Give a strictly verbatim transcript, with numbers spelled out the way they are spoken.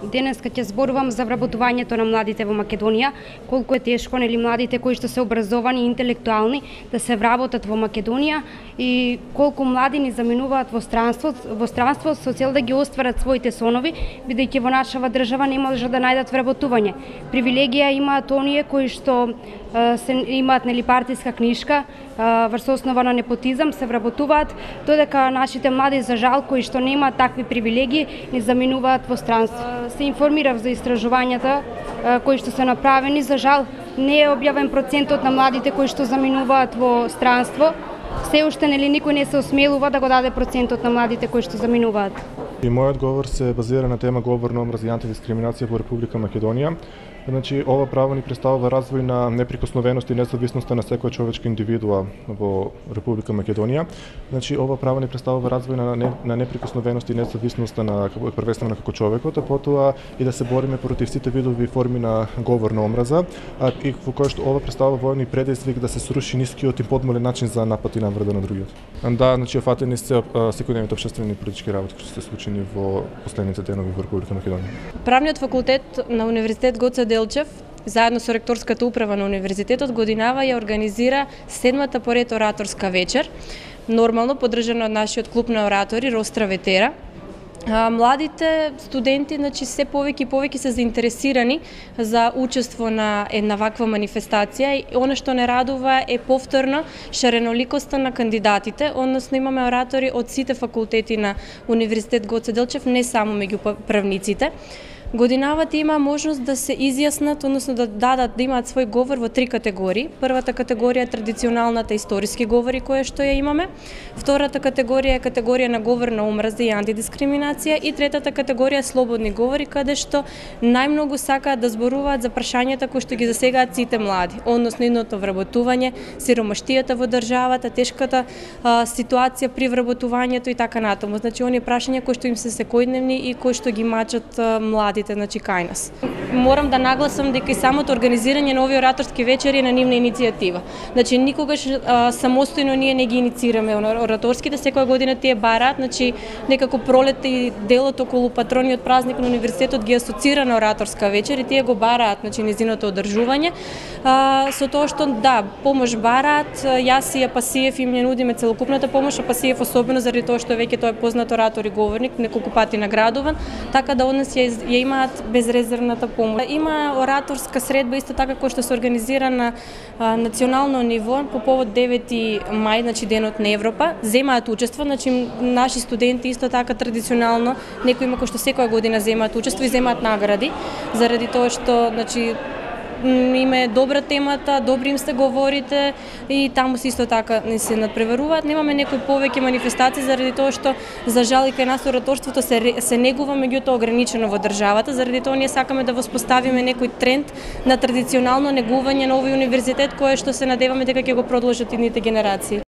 Денеска ќе зборувам за вработувањето на младите во Македонија, колку е тешко нели младите кои што се образовани и интелектуални да се вработат во Македонија и колку млади ни заминуваат во странство, во странство со цел да ги остварат своите сонови, бидејќи во нашава држава не може да најдат вработување. Привилегија имаат оние кои што се имаат нели партиска книшка, врз основа на непотизам се вработуваат, додека нашите млади за жал кои што немаат такви привилегии ни заминуваат во странство. Се информирав за истражувањата кои што се направени, за жал не е објавен процентот на младите кои што заминуваат во странство. Се уште нели никој не се осмелува да го даде процентот на младите кои што заминуваат. И мојот говор се базира на тема говор на омраза и антидискриминација во Република Македонија. Значи, ова право ни представува развој на неприкосновеност и независноста на секоја човечка индивидуа во Република Македонија. Значи, ова право ни представува развој на, не, на неприкосновеност и независноста на првенствено како човекот, а потоа и да се бориме против сите видови форми на говор на омраза, а и во кој што ова представува војни предизвик да се сруши нискиот и подмолен начин за напад и навреда на другиот. Да, значи офатени се секојдневните општествени и политички работи кои се случени во последните денови во Република Македонија. Правниот факултет на Универзитет Гоце Делчев заедно со ректорската управа на универзитетот годинава ја организира седмата поред ораторска вечер, нормално поддржана од нашиот клуб на оратори Ростра Ветера. Младите студенти, значи, се повеќе и повеќе се заинтересирани за учество на една ваква манифестација и она што не радува е повторно шареноликоста на кандидатите, односно имаме оратори од сите факултети на Универзитет Гоце Делчев, не само меѓу правниците. Годинавата има можност да се изјаснат, односно да дадат, да имаат свој говор во три категории. Првата категорија е традиционалната историски говори која што ја имаме. Втората категорија е категорија на говор на омраза и антидискриминација и третата категорија е слободни говори каде што најмногу сакаат да зборуваат за прашањата кои што ги засегаат сите млади, односно идното вработување, сиромаштијата во државата, тешката а, ситуација при вработувањето и така натаму. Значи оние прашања кои што им се секојдневни и кои што ги мачат а, млади. Значи, кај нас. Морам да нагласам дека и самото организирање на овие ораторски вечери е на нивна иницијатива. Значи, никогаш а, самостојно ние не ги инициираме ораторските, секоја година тие бараат, значи некако пролетта и делот околу патрониот празник на универзитетот ги асоцира на ораторска вечер и тие го бараат, значи нејзиното одржување. А, со тоа што да, помош бараат, јас и Апасиев им ја нудиме целокупната помош, Апасиев особено заради тоа што веќе тој е познат оратор и говорник, неколку пати наградуван, така да од нас ја, ја имаат безрезервната помош. Има ораторска средба исто така која што се организира на а, национално ниво по повод девети мај, значи денот на Европа. Земаат учество, значи наши студенти исто така традиционално, некои има кои што секоја година земаат учество и земаат награди заради тоа што значи им е добра темата, добри им се говорите и таму се исто така не се надпреваруваат. Немаме некои повеќе манифестации заради тоа што за жал и кај нас ораторството се се негува, меѓутоа ограничено во државата, заради тоа ние сакаме да воспоставиме некој тренд на традиционално негување на овој универзитет кое што се надеваме дека ќе го продолжат идните генерации.